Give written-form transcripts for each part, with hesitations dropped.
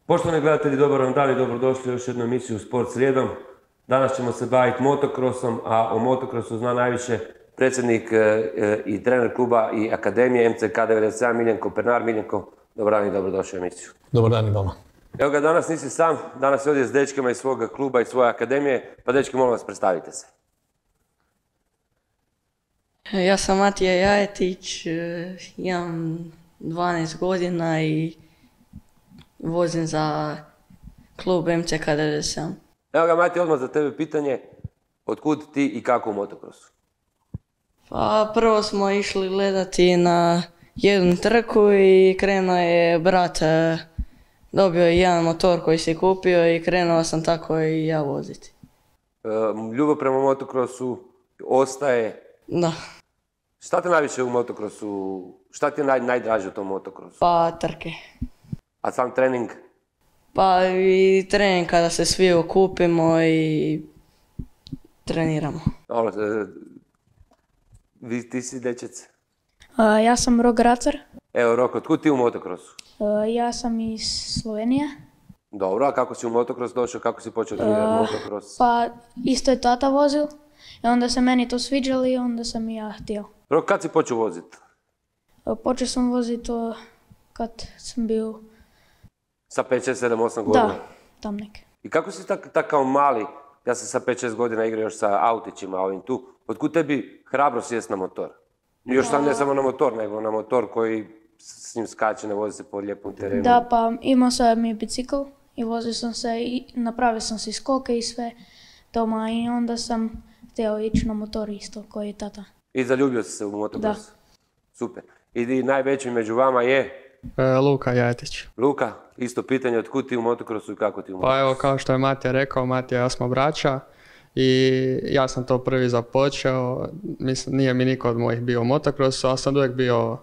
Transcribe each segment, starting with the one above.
Poštovani gledatelji, dobar vam dan i dobrodošli u još jednu emisiju Sport srijedom. Danas ćemo se baviti motokrosom, a o motokrosu zna najviše predsjednik i trener kluba i akademije MCK 97 Miljenko Pernar. Miljenko, dobar dan i dobrodošli u emisiju. Dobar dan i vama. Evo ga, danas nisi sam, danas je ovdje s dečkima iz svoga kluba i svoje akademije, pa dečki, molim vas, predstavite se. Ja sam Matija Jajetić, imam 12 godina i vozim za klub MCK 97. Evo ga, Matija, odmah za tebe pitanje, otkud ti i kako u motokrosu? Pa prvo smo išli gledati na jednu trku i krenuo je brat, dobio je jedan motor koji si kupio i krenuo sam tako i ja voziti. Ljubav prema motokrosu ostaje. Da. Šta te najviše u motokrosu, šta ti je najdraže u tom motokrosu? Pa trke. A sam trening? Pa i trening kada se svi okupimo i treniramo. Ti si dečec? Ja sam Rok Racar. Evo Rok, otkud ti u motokrosu? Ja sam iz Slovenije. Dobro, a kako si u motokros došao, kako si počeo trenirati motokros? Pa isto je tata vozil i onda se meni to sviđalo i onda sam i ja htio. Rok, kad si počeo voziti? Počeo sam voziti kad sam bio... Sa 5, 6, 7, 8 godina? Da, tam neke. I kako si tak kao mali, ja sam sa 5, 6 godina igrao još sa autićima ovim tu, otkud tebi hrabro sjest na motor? Još sam ne samo na motor, nego na motor koji s njim skače, ne vozi se po lijepom terenu. Da, pa imao sam mi bicikl i vozio sam se i napravio sam si skoke i sve doma i onda sam htio ići na motor isto koji je tata. I zaljubio si se u motokros? Da. Super. I najveći među vama je? Luka Jajetić. Luka, isto pitanje, otkud ti u motokrosu i kako ti u motokrosu? Pa evo, kao što je Matija rekao, Matija i ja smo braća i ja sam to prvi započeo. Mislim, nije mi niko od mojih bio u motokrosu, ali sam uvijek bio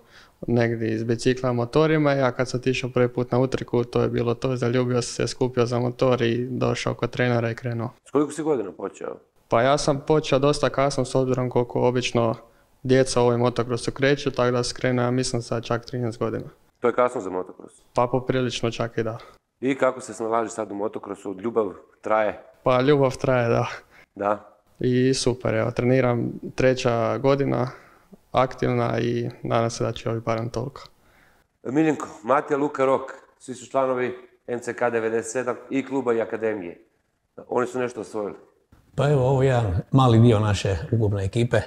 negdje iz bicikla motorima. Ja kad sam otišao prvi put na utrku, to je bilo to, zaljubio sam se, skupio za motor i došao kod trenera i krenuo. S koliko si godina počeo? Pa ja sam počeo dosta kasno s obzirom koliko obično djeca u ovoj motokrosu kreću, tako da sam krenuo, ja mislim, sad čak 13 godina. To je kasno za motokros? Pa poprilično čak i da. I kako se snalaziš sad u motokrosu? Ljubav traje? Pa ljubav traje, da. Da? I super, evo, treniram 3. godina, aktivna i nadam se da će ovi barem toliko. Miljenko, Matija, Luka, Rok, svi su članovi MCK 97 i kluba i akademije. Oni su nešto osvojili. Pa evo, ovo je jedan mali dio naše ukupne ekipe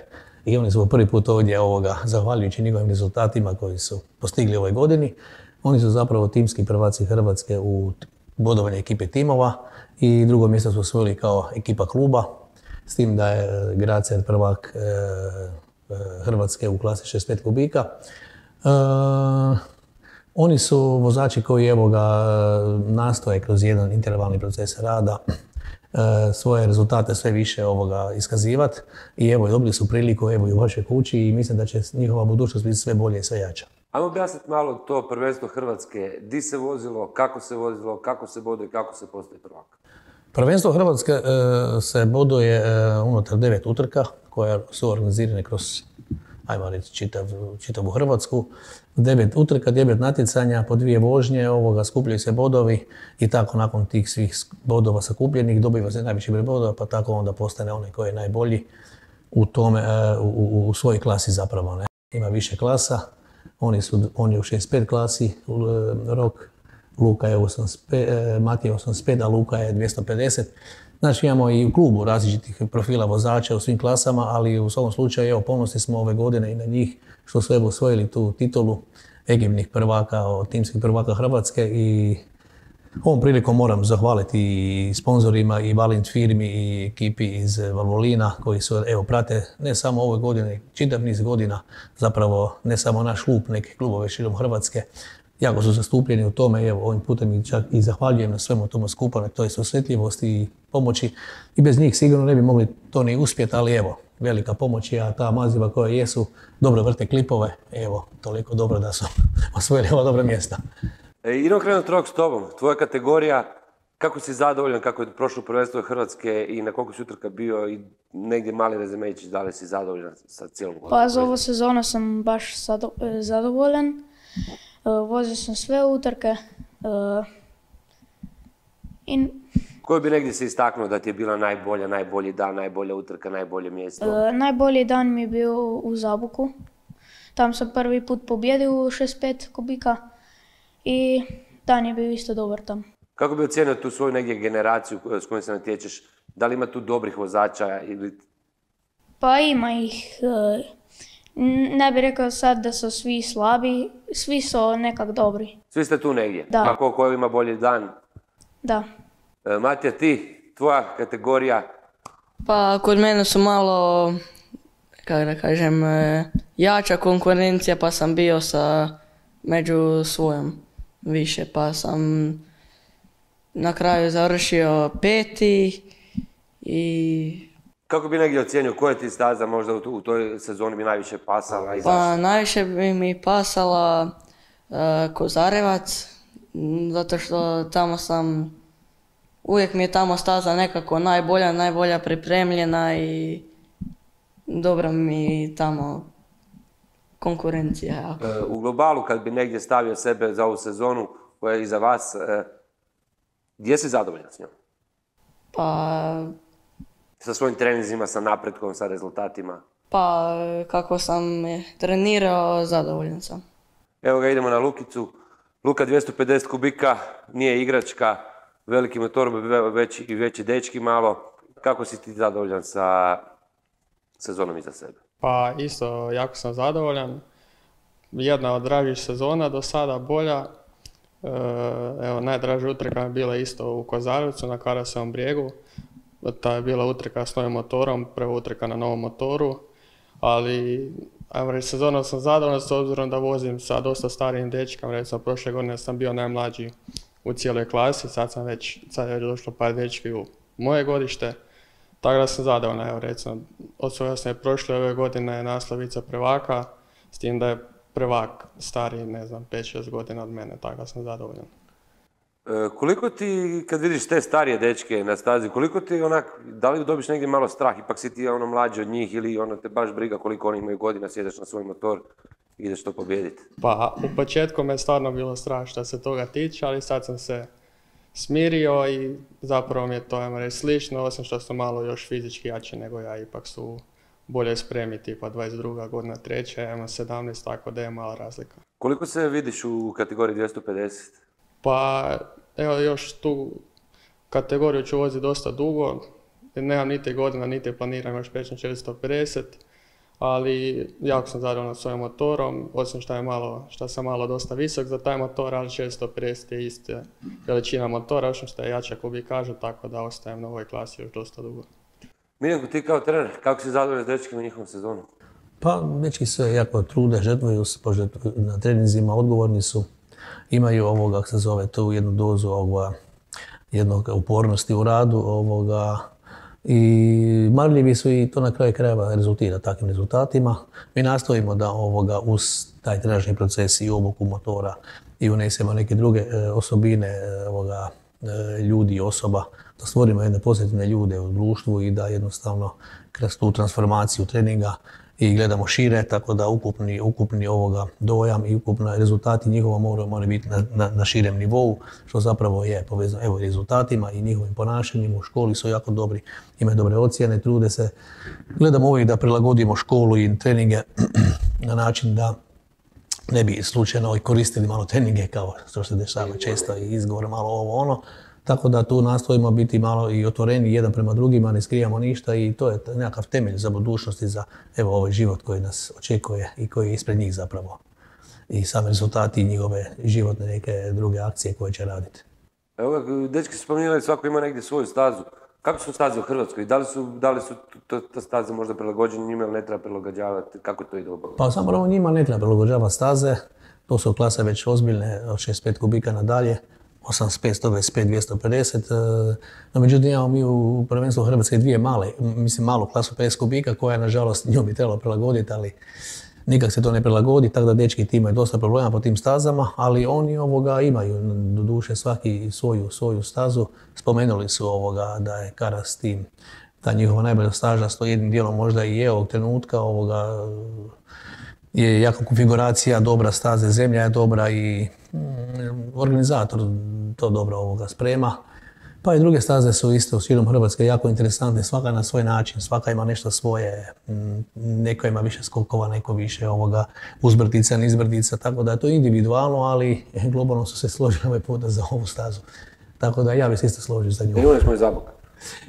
i oni su prvi put ovdje zahvaljujući njihovim rezultatima koji su postigli ove godini. Oni su zapravo timski prvaci Hrvatske u bodovanju ekipe timova i drugo mjesto su osvojili kao ekipa kluba, s tim da je Gracer prvak Hrvatske u klasi 65 kubika. Oni su vozači koji nastoje kroz jedan intervalni proces rada svoje rezultate sve više iskazivati i evo, dobili su priliku i u vašoj kući i mislim da će njihova budućnost biti sve bolje i sve jača. Ajmo objasniti malo to prvenstvo Hrvatske, di se vozilo, kako se boduje, kako se postaje prvak. Prvenstvo Hrvatske se boduje unutar 9 utrka koje su organizirane kroz, ajmo reći, čitavu Hrvatsku. 9 utrka, 9 natjecanja, po 2 vožnje, skupljaju se bodovi i tako nakon tih svih bodova sakupljenih dobiva se najviši broj bodova, pa tako onda postane onaj koji je najbolji u svojoj klasi zapravo. Ne? Ima više klasa, on je u 65 klasi, Rok, Luka je 85, Matija 85, a Luka je 250. Znači imamo i u klubu različitih profila vozača u svim klasama, ali u svakom slučaju evo, ponosni smo ove godine i na njih što su evo osvojili tu titulu ekipnih prvaka, timskih prvaka Hrvatske i ovom prilikom moram zahvaliti i sponzorima i Valint firmi i ekipi iz Valvolina koji su evo prate ne samo ove godine, čitav niz godina zapravo ne samo naš klub, neke klubove širom Hrvatske. Jako su zastupljeni u tome i evo ovim putem čak i zahvaljujem na svemu tomu skupa, na toj osjetljivosti i pomoći. I bez njih sigurno ne bi mogli to ni uspjeti, ali evo, velika pomoć je, a ta maziva koja jesu, dobro vrte klipove, evo, toliko dobro da su osvojili ova dobra mjesta. Idemo krenuti Rok s tobom, tvoja kategorija, kako si zadovoljan, kako je prošlo prvenstvo Hrvatske i na koliko si utrka bio i negdje mali rezumejić, da li si zadovoljan sa cijelom godinom? Pa za ovu sezonu sam baš zadovoljan. Vozio sam sve utrke. I Koji bi negdje se istaknuo da ti je bila najbolji dan, najbolja utrka, najbolje mjesto? najbolji dan mi je bio u Zaboku. Tam sam prvi put pobjedio u 65 kubika i dan je bio isto dobar tam. Kako bi ocijenio tu svoju negdje generaciju s kojom se natječeš? Da li ima tu dobrih vozača ili... Pa ima ih, ne bih rekao sad da su svi slabi, svi su nekak dobri. Svi ste tu negdje? Da. A ko ima bolji dan? Da. Matija, ti, tvoja kategorija? Pa kod mene su malo, kako da kažem, jača konkurencija pa sam bio među svojom više pa sam na kraju završio 5. i... Kako bi negdje ocijenio koja ti staza možda u toj sezoni bi najviše pasala i zašto? Pa najviše bi mi pasala Kozarevac, zato što tamo uvijek mi je tamo staza nekako najbolja pripremljena i dobra mi tamo konkurencija. U globalu kad bi negdje stavio sebe za ovu sezonu koja je iza vas, gdje si zadovoljan s njom? Pa Sa svojim treninzima, sa napretkom, sa rezultatima? Pa kako sam trenirao, zadovoljan sam. Evo ga, idemo na Lukicu. Luka 250 kubika, nije igračka, veliki motor, veći dečki malo. Kako si ti zadovoljan sa sezonom iza sebe? Pa isto, jako sam zadovoljan. Jedna od dražih sezona do sada, bolja. Evo, najdraža utrka je bila isto u Kozarevcu na Karasovom brijegu. Ta je bila utrka s novim motorom, prva utrka na novom motoru, ali ajmo reći, sezonom sam zadovoljan s obzirom da vozim sa dosta starijim dečkama. Recimo, prošle godine sam bio najmlađi u cijeloj klasi, sad je već došlo par dečki u moje godište, tako da sam zadovoljan. Evo, recimo, osvojio sam je prošle ove godine naslovica prvaka, s tim da je prvak stariji, ne znam, 5-6 godina od mene, tako da sam zadovoljan. Koliko ti, kad vidiš te starije dečke na stazi, koliko ti da li dobiš negdje malo strah, ipak si ti mlađi od njih ili te baš briga koliko oni imaju godina, sjedeš na svoj motor i ideš to pobijediti? Pa u početku me stvarno bilo strah što se toga tiče, ali sad sam se smirio i zapravo mi je to, ajmo reći, slično, osim što su malo još fizički jači nego ja, ipak su bolje spremi, tipa 22. godina, treća, ja imam 17, tako da je mala razlika. Koliko se vidiš u kategoriji 250? Pa evo, još tu kategoriju ću voziti dosta dugo, nemam niti godina, niti planiram još preći na 450, ali jako sam zadovoljan svojim motorom, osim što sam malo dosta visok za taj motor, ali 450 je ista veličina motora, osim što je jača kubikaža, tako da ostajem na ovoj klasi još dosta dugo. Miljenko, ti kao trener, kako si zadovoljan s dečkima u njihovom sezonu? Pa, dečki se jako trude, žrtvuju se na treninzima, odgovorni su. Imaju kako se zove, tu jednu dozu jednog upornosti u radu i marljivi su i to na kraju krajeva rezultira takvim rezultatima. Mi nastojimo da uz taj trenažni proces i obuku motora i unesemo neke druge osobine ljudi i osoba, da stvorimo jedne pozitivne ljude u društvu i da jednostavno kroz tu transformaciju treninga i gledamo šire, tako da ukupni dojam i ukupni rezultati njihova moraju biti na širem nivou, što zapravo je povezano evo rezultatima i njihovim ponašanjem. U školi su jako dobri, imaju dobre ocjene, trude se. Gledamo uvijek da prilagodimo školu i treninge na način da ne bi slučajno koristili malo treninge kao što se dešava često i izgovor malo ovo ono. Tako da tu nastojimo biti malo i otvoreni jedan prema drugima, ne skrivamo ništa i to je nekakav temelj za budućnost i za ovaj život koji nas očekuje i koji je ispred njih zapravo. I sami rezultati njihove životne neke druge akcije koje će raditi. Evo ga, dečki su spominjali, svako ima negdje svoju stazu. Kako su staze u Hrvatskoj? Da li su te staze možda prilagođene njima ili ne treba prilagođavati? Kako to ide obavljati? Pa samo njima ne treba prilagođavati staze. To su klase već ozbiljne, od 65 kubika nadalje. 85, 125, 250. No, međutim, imamo mi u prvenstvu Hrvatske dvije malu klasu 50 kubika koja, nažalost, nju bi trebalo prilagoditi, ali nikak se to ne prilagodi, tako da dečki ti imaju dosta problema po tim stazama, ali oni imaju doduše svaki svoju stazu. Spomenuli su da je Karas tim, ta njihova najbolja staža, to jednim dijelom možda i je ovog trenutka, je jako konfiguracija dobra staze, zemlja je dobra i organizator to dobro sprema. Pa i druge staze su isto u širom Hrvatske jako interesantne, svaka na svoj način, svaka ima nešto svoje, neko ima više skokova, neko više uzbrdica, nizbrdica, tako da je to individualno, ali globalno su se složili ovaj puta za ovu stazu. Tako da ja bih se isto složio za nju. Imali smo i Zabok.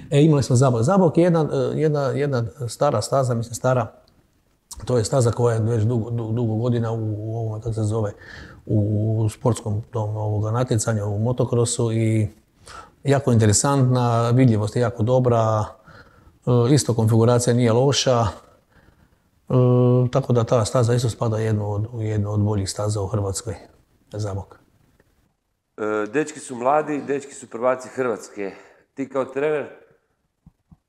Imali smo Zabok. Zabok je jedna stara staza, mislim stara, to je staza koja je već dugo godina u ovom, kako se zove, u sportskom tom natjecanju, u motokrosu i jako interesantna, vidljivost je jako dobra, isto konfiguracija nije loša, tako da ta staza isto spada u jednu od boljih staza u Hrvatskoj, Zabok. Dečki su mladi, dečki su prvaci Hrvatske. Ti kao trener,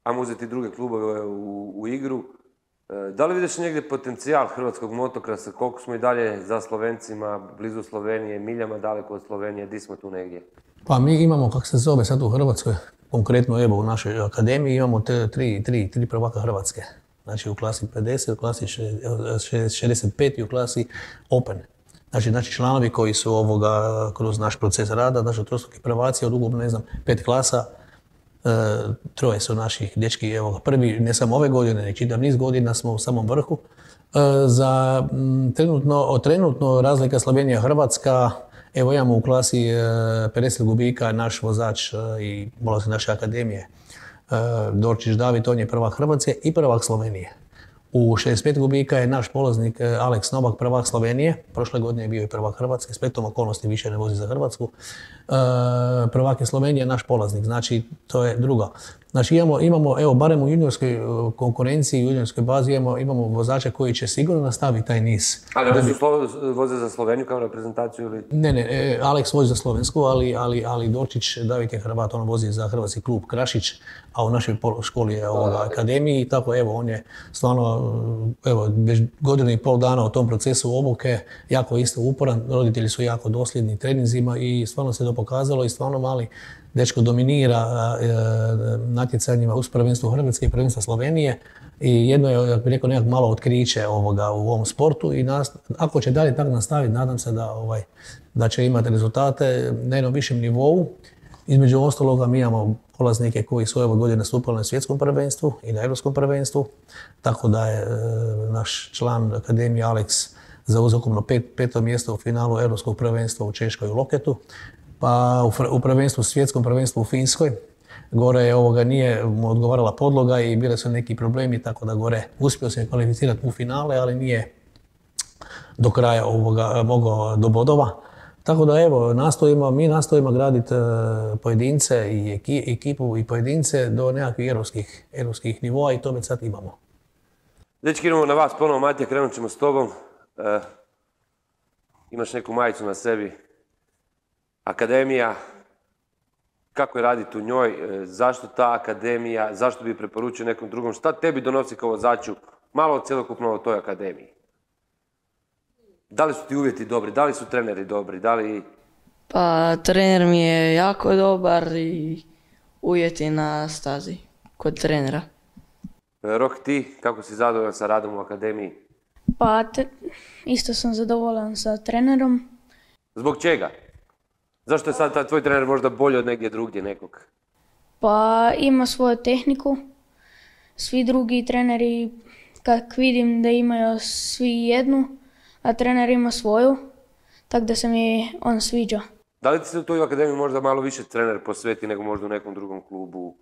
ajmo uzeti druge klubove u igru, da li vidiš negdje potencijal hrvatskog motokrosa, koliko smo i dalje za Slovencima, blizu Slovenije, miljama daleko od Slovenije, di smo tu negdje? Pa mi imamo, kako se zove sad u Hrvatskoj, konkretno evo u našoj akademiji imamo tri prvaka Hrvatske. Znači u klasi 50, u klasi 65 i u klasi Open. Znači članovi koji su kroz naš proces rada, znači trostruki prvaci od ukupno, ne znam, 5 klasa, troje su naših dečki, evo ga prvi, ne samo ove godine, nek čitav niz godina smo u samom vrhu. Za trenutno razlika Slovenija-Hrvatska, evo imamo u klasi 50 gubika naš vozač i polaznik naše akademije, Dorčić David, on je prvak Hrvatske i prvak Slovenije. U 65 gubika je naš polaznik Aleks Novak, prvak Slovenije. Prošle godine je bio i prvak Hrvatske, spletom okolnosti više ne vozi za Hrvatsku. Prvak je Slovenije, naš polaznik, znači to je druga. Znači imamo, evo, barem u juniorskoj konkurenciji, u juniorskoj bazi imamo vozače koji će sigurno nastaviti taj niz. Ali oni voze za Sloveniju kao reprezentaciju ili? Ne, Aleks vozi za Slovensku, ali Dorčić David je Hrvat, on vozi za hrvatski klub Krašić, a u našoj školi je akademiji i tako, evo, on je stvarno, evo, već godinu i pol dana u tom procesu obuke, jako isto uporan, roditelji su jako dosljedni treninzima i stvarno se to pokazalo i stvarno mali dečko dominira natjecanjima uz prvenstvo Hrvatske i prvenstva Slovenije i jedno je, jak bih rekao, nekako malo otkriće u ovom sportu i ako će dalje tako nastaviti, nadam se da će imati rezultate na jednom višem nivou. Između ostaloga mi imamo polaznike koji su ove godine nastupali na svjetskom prvenstvu i na europskom prvenstvu, tako da je naš član akademije Aleks zauzeo ukupno peto mjesto u finalu europskog prvenstva u Češkoj u Loketu. Pa u prvenstvu, svjetskom prvenstvu u Finskoj, gore nije mu odgovarala podloga i bile su neki problemi, tako da gore uspio se kvalificirati u finale, ali nije do kraja mogao do bodova. Tako da evo, mi nastojimo graditi pojedince i ekipu i pojedince do nekakvih europskih nivoa i to već sad imamo. Dečki, idemo na vas ponovo, Matija, krenut ćemo s tobom. Imaš neku majicu na sebi. Akademija, kako je raditi u njoj, zašto ta akademija, zašto bi preporučio nekom drugom, šta tebi donosi kao vozaču, malo cjelokupno o toj akademiji? Da li su ti uvjeti dobri, da li su treneri dobri, da li... Pa trener mi je jako dobar i uvjeti na stazi kod trenera. Rok, ti, kako si zadovoljan sa radom u akademiji? Pa isto sam zadovoljan sa trenerom. Zbog čega? Zašto je sad tvoj trener možda bolji od negdje drugdje nekog? Pa ima svoju tehniku. Svi drugi treneri, kak vidim da imaju svi jednu, a trener ima svoju, tako da se mi on sviđa. Da li ti se u toj akademiji možda malo više trener posveti nego možda u nekom drugom klubu?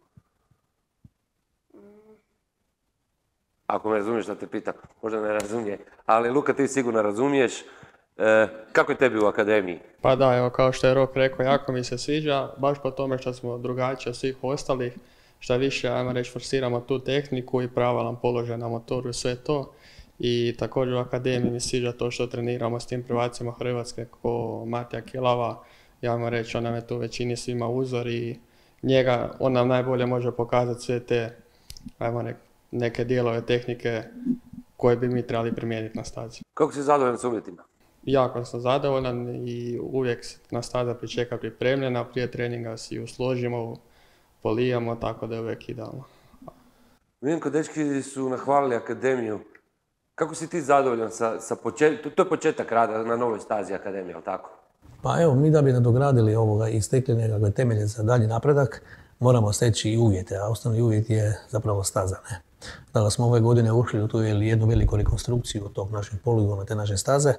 Ako me razumiješ da te pitam, možda ne razumije. Ali Luka, ti sigurno razumiješ. Kako je tebi u akademiji? Pa da, evo, kao što je Rok rekao, jako mi se sviđa, baš po tome što smo drugačiji od svih ostalih, što više, ajmo reći, forsiramo tu tehniku i pravalan položaj na motoru i sve to. I također u akademiji mi sviđa to što treniramo s tim prvacima Hrvatske ko Matija Kilava, ajmo reći, on nam je tu većini svima uzor i on nam najbolje može pokazati sve te, ajmo reći, neke dijelove tehnike koje bi mi trebali primijeniti na stazi. Kako si zadovoljan s uvjetima? Jako sam zadovoljan i uvijek na staza pričeka pripremljena, prije treninga si ju složimo, polijamo, tako da je uvijek idealno. Vidim kod dečki su nahvalili akademiju. Kako si ti zadovoljan sa početkom? To je početak rada na novoj stazi akademije, ali tako? Pa evo, mi da bi nadogradili ovoga i stekli nekakve temelje za dalji napredak, moramo steći i uvjete, a osnovni uvjet je zapravo staza. Ne? Dakle, smo ove godine ušli u tu jednu veliku rekonstrukciju tog našeg poligona, te naše staze,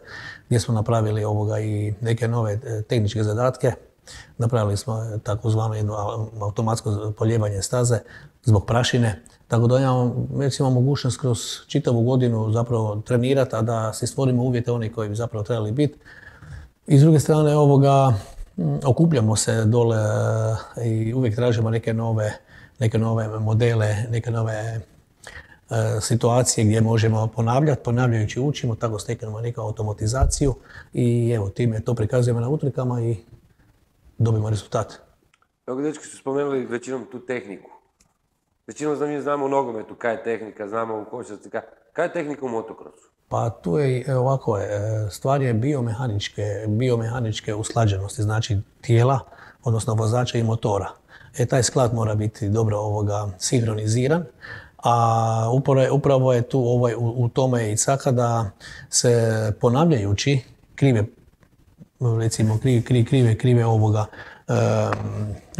gdje smo napravili ovoga i neke nove tehničke zadatke. Napravili smo takozvano jedno automatsko polijevanje staze zbog prašine, tako da imamo mogućnost kroz čitavu godinu zapravo trenirati, a da si stvorimo uvjete oni koji bi zapravo trebali biti. I s druge strane okupljamo se dole i uvijek tražimo neke nove modele, neke nove situacije gdje možemo ponavljajući učimo, tako steknemo neku automatizaciju i evo time to prikazujemo na utrkama i dobimo rezultat. Evo, dečki su spomenuli većinom tu tehniku. Većinom mi znamo u nogometu kaj je tehnika, znamo u košarci kaj je tehnika u motokrosu. Pa tu je ovako, stvar je biomehaničke usklađenosti, znači tijela, odnosno vozača i motora. Taj sklad mora biti dobro sinhroniziran, a upravo je tu u tome i caka da se ponavljajući krive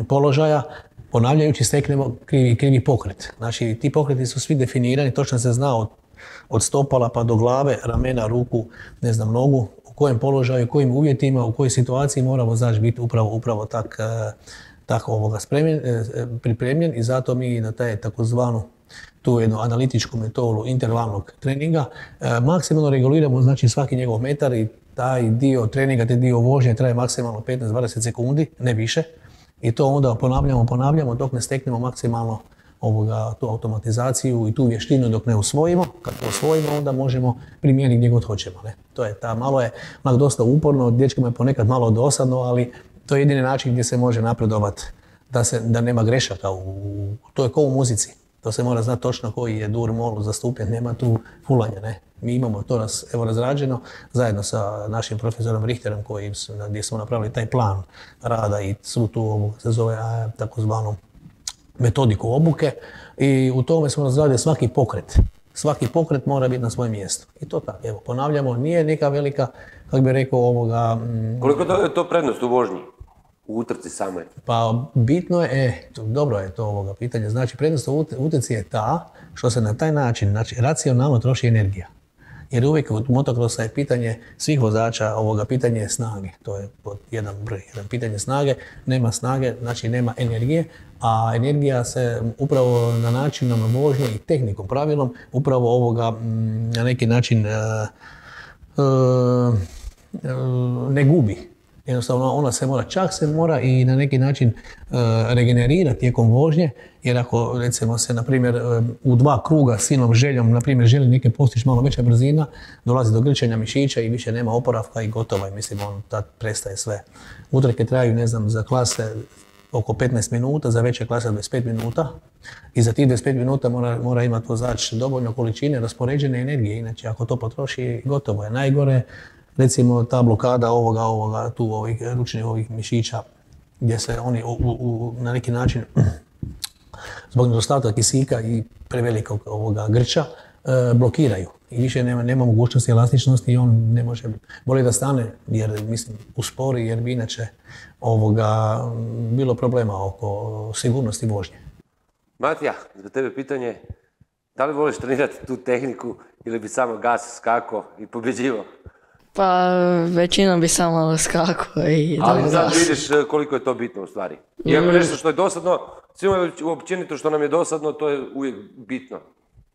položaja, ponavljajući steknemo krivi pokret. Znači ti pokreti su svi definirani, točno se zna od stopala pa do glave, ramena, ruku, nogu, u kojem položaju, u kojim uvjetima, u kojoj situaciji mora vozač biti upravo tako pripremljen i zato mi na taj takozvanu tu jednu analitičku metodu intervalnog treninga maksimalno reguliramo znači svaki njegov metar i taj dio treninga, taj dio vožnje traje maksimalno 15-20 sekundi, ne više. I to onda ponavljamo dok ne steknemo maksimalno tu automatizaciju i tu vještinu dok ne usvojimo. Kad to usvojimo onda možemo primijeniti gdje god hoćemo. Ne? To je malo je dosta uporno, dječkima je ponekad malo dosadno, ali to je jedini način gdje se može napredovati, da nema grešaka. To je kao u muzici. To se mora znati točno koji je dur, mol zastupljen, nema tu fulanja. Ne? Mi imamo to razrađeno zajedno sa našim profesorom Richterom gdje smo napravili taj plan rada i svu tu se zove takozvanu metodiku obuke i u tome smo razradili svaki pokret. Svaki pokret mora biti na svojem mjestu. I to tako, evo, ponavljamo, nije neka velika, kako bih rekao, Koliko je to prednost u vožnji? U utrci samoj? Pa bitno je, dobro je to pitanje, znači prednost u utrci je ta što se na taj način, znači racionalno troši energija. Jer uvijek u motokrosa je pitanje svih vozača, pitanje je snage. To je jedan broj, pitanje snage, nema snage, znači nema energije, a energija se upravo na načinom vožnje i tehnikom, pravilom, upravo na neki način ne gubi. Jednostavno ona se mora i na neki način regenerirati tijekom vožnje, jer ako recimo se na primjer u 2 kruga silnom željom, na primjer želi neke postići malo veća brzina, dolazi do grčenja mišića i više nema oporavka i gotovo je, mislim tad prestaje sve. Utrke traju, za klase oko 15 minuta, za veće klase 25 minuta i za tih 25 minuta mora imati vozač dovoljno količine raspoređene energije, inače ako to potroši gotovo je. Najgore recimo ta blokada ovih ručnih mišića gdje se oni na neki način zbog nedostatka kisika i prevelikog grča blokiraju i više nema mogućnosti elastičnosti i on ne može, bolje da stane jer uspori jer bi inače bilo problema oko sigurnosti vožnje. Matija, za tebe pitanje, da li voliš trenirati tu tehniku ili bi samo gas skako i pobjeđivao? Pa većinom bi samo skakao i ali sad vidiš koliko je to bitno u stvari. Iako nešto što je dosadno, svima općenito što nam je dosadno, to je uvijek bitno.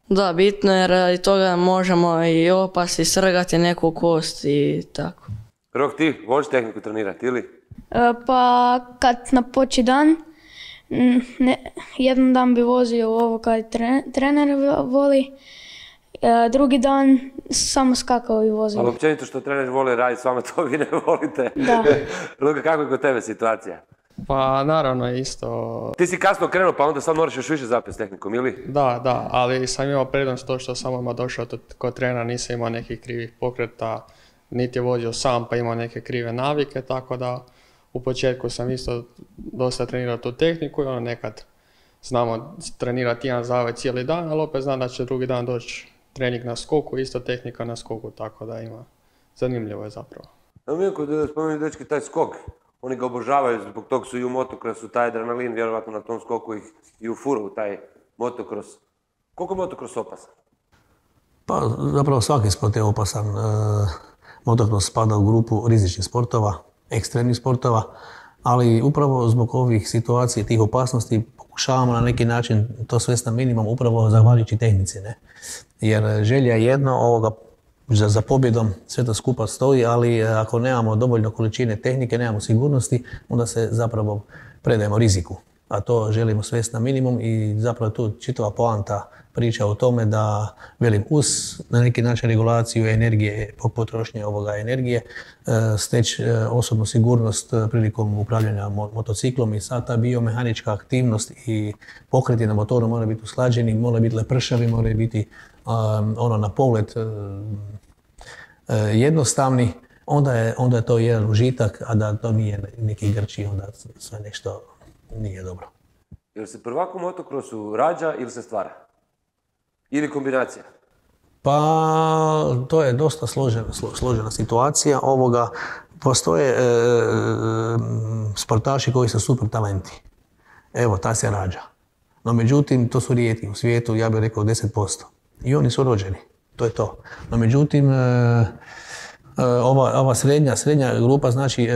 Da, bitno jer radi toga možemo i opasti, srgati neku kost i tako. Rok, ti voliš tehniku trenirati ili? Pa kad napoči dan, jedan dan bi vozio ovo kad trener voli, drugi dan samo skakao i vozio. Ali općenito što trener voli raditi s vama, to vi ne volite. Da. Luka, kako je kod tebe situacija? Pa naravno isto. Ti si kasno krenuo pa onda sad moraš još više zapet s tehnikom, ili? Da, ali sam imao prednost to što sam odmah došao kod trenera, nisam imao nekih krivih pokreta, niti je vozio sam pa imao neke krive navike, tako da u početku sam isto dosta trenirao tu tehniku i nekad znamo trenirati jedan zavet cijeli dan, ali opet znam da će drugi dan doći trening na skoku, isto tehnika na skoku, tako da ima. Zanimljivo je zapravo. Evo Milko, da spomenu dečki taj skok. Oni ga obožavaju, zbog tog su i u motokrosu, taj adrenalin, vjerovatno na tom skoku ih i u furu, taj motokros. Koliko je motokros opasan? Pa zapravo svaki sport je opasan. Motokros spada u grupu rizičnih sportova, ekstremnih sportova, ali upravo zbog ovih situacija, tih opasnosti, pokušavamo na neki način to svesti na minimum upravo zahvaljujući tehnici. Ne? Jer želja je jedno, za pobjedom sve to skupa stoji, ali ako nemamo dovoljno količine tehnike, nemamo sigurnosti, onda se zapravo predajemo riziku. A to želimo svesti na minimum i zapravo tu čitava poanta priča o tome da, velim, uz na neki način regulaciju energije, potrošnje ovoga energije, steći osobnu sigurnost prilikom upravljanja motociklom i sad ta biomehanička aktivnost i pokreti na motoru moraju biti usklađeni, moraju biti lepršavi, moraju biti na pogled jednostavni, onda je to jedan užitak, a da to nije neki grči, onda sve nešto nije dobro. Jel se prvak u motokrosu rađa ili se stvara? Ili kombinacija? Pa to je dosta složena situacija. Postoje sportaši koji su super talenti. Evo, ta se rađa. No međutim, to su rijetki u svijetu, ja bih rekao 10%. I oni su rođeni. To je to. No međutim, ova srednja grupa, znači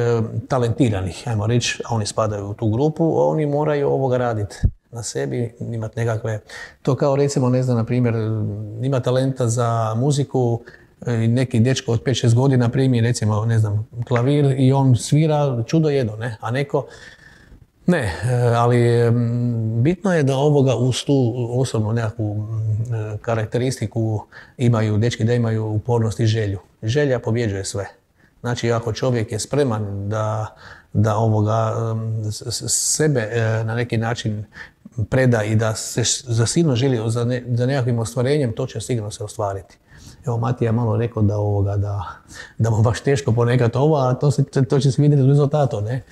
talentiranih, ajmo reći, a oni spadaju u tu grupu, oni moraju raditi na sebi, imati nekakve, to kao recimo, ne znam, na primjer, ima talenta za muziku, neki dečko od 5-6 godina primi, recimo, ne znam, klavir i on svira čudo jedno, ne, a neko ne, ali bitno je da uz tu osobnu nekakvu karakteristiku imaju, dečki da imaju upornost i želju. Želja pobjeđuje sve. Znači, ako čovjek je spreman da sebe na neki način preda i da se silno želi za nekakvim ostvarenjem, to će sigurno se ostvariti. Evo, Matija je malo rekao da mu baš teško ponekad a to će se vidjeti u rezultatu, ne?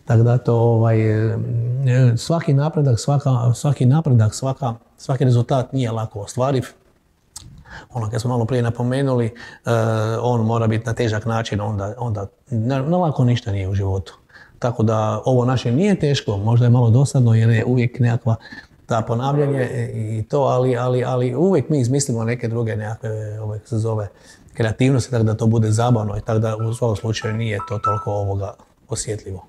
Tako da to, svaki napredak, svaki rezultat nije lako ostvariv. Kad smo malo prije napomenuli, on mora biti na težak način, onda na lako ništa nije u životu. Tako da ovo naše nije teško, možda je malo dosadno jer je uvijek nekakva ta ponavljanje i to, ali uvijek mi izmislimo neke druge nekakve, se zove, kreativnosti, tako da to bude zabavno i tako da u svakom slučaju nije to toliko osjetljivo.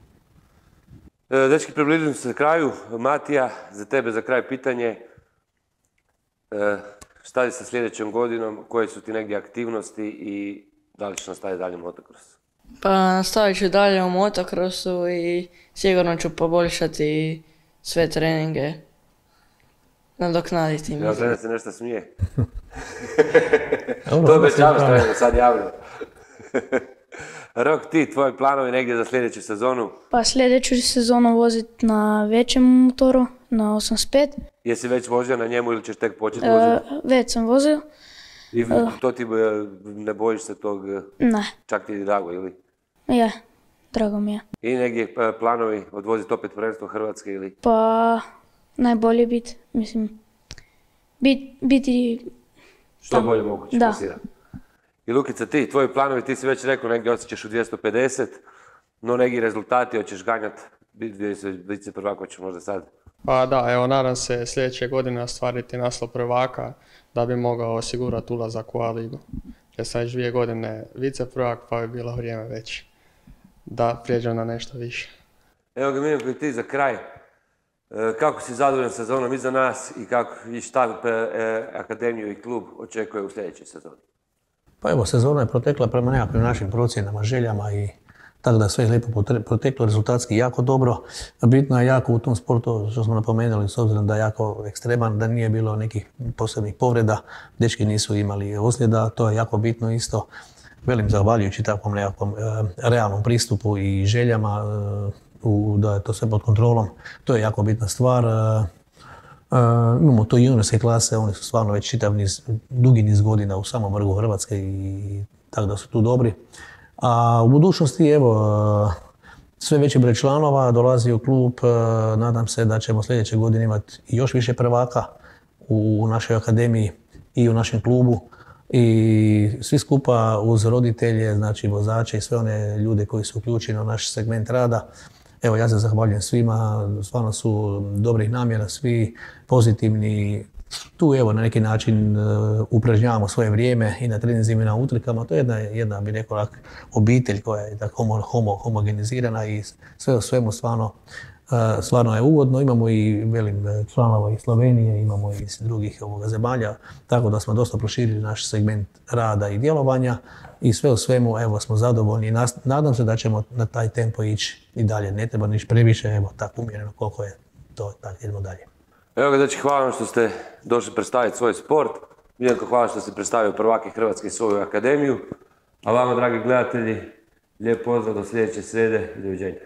Dečki, približujem se kraju. Matija, za tebe za kraj pitanje. Šta je sa sljedećom godinom, koje su ti negdje aktivnosti i da li ćeš nastaviti dalje motocross? Pa nastavit ću dalje u motocrossu i sigurno ću poboljšati sve treninge, nadoknaditi. Ja gledam se nešto smije. To obećavaš trenutno sad javno. Rok, ti, tvoji planovi negdje za sljedeću sezonu? Pa sljedeću sezonu voziti na većem motoru, na 85. Jesi već vozio na njemu ili ćeš tek početi voziti? Već sam vozio. I to ti ne bojiš se tog? Ne. Čak ti je drago, ili? Je, drago mi je. I negdje planovi odvoziti opet prvenstvo Hrvatske, ili? Pa najbolje biti, mislim, biti... Što bolje moguće da. pasirati. I Lukica, ti, tvoji planovi, ti si već rekao, negdje osjećaš u 250, no neki rezultati hoćeš ganjati, biti se prvako ćeš možda sad. Pa da, evo, nadam se sljedeće godine ostvariti naslov prvaka da bi mogao osigurati ulazak u A ligu. Jer sam već 2 godine vice prvak, pa bi bilo vrijeme već da prijeđem na nešto više. Evo ga, Milko, i ti za kraj. Kako si zadovoljan sezonom iza nas i šta akademiju i klub očekuje u sljedećoj sezoni? Pa evo, sezona je protekla prema nekakvim našim procjenama, željama i tako da sve je lijepo proteklo, rezultatski jako dobro. Bitno je jako u tom sportu, što smo napomenuli, s obzirom da je jako ekstreman, da nije bilo nekih posebnih povreda, dečki nisu imali ozljeda, to je jako bitno isto. Velim, zahvaljujući takvom nekakvom realnom pristupu i željama, da je to sve pod kontrolom, to je jako bitna stvar. Imamo tu juniorske klase, oni su stvarno već dugi niz godina u samom vrhu Hrvatske i tako da su tu dobri. A u budućnosti, evo, sve veći broj članova dolazi u klub, nadam se da ćemo sljedeće godine imati još više prvaka u našoj akademiji i u našem klubu. i svi skupa uz roditelje, znači vozače i sve one ljude koji su uključeni u naš segment rada. Evo, ja se zahvaljujem svima, stvarno su dobrih namjera, svi pozitivni. Tu evo na neki način upražnjavamo svoje vrijeme i na treninzima i na utrkama. To je jedna bi rekao, obitelj koja je tako homogenizirana i sve u svemu stvarno je ugodno. Imamo i članova iz Slovenije, imamo i iz drugih zemalja, tako da smo dosta proširili naš segment rada i djelovanja i sve u svemu evo smo zadovoljni i nadam se da ćemo na taj tempo ići i dalje. Ne treba niš previše, evo tako umjereno koliko je to, tako idemo dalje. Evo ga, znači, hvala vam što ste došli predstaviti svoj sport. Miljenko, hvala što ste predstavio prvake Hrvatske i svoju akademiju. A vama, dragi gledatelji, lijep pozdrav do sljedeće srijede i doviđenja.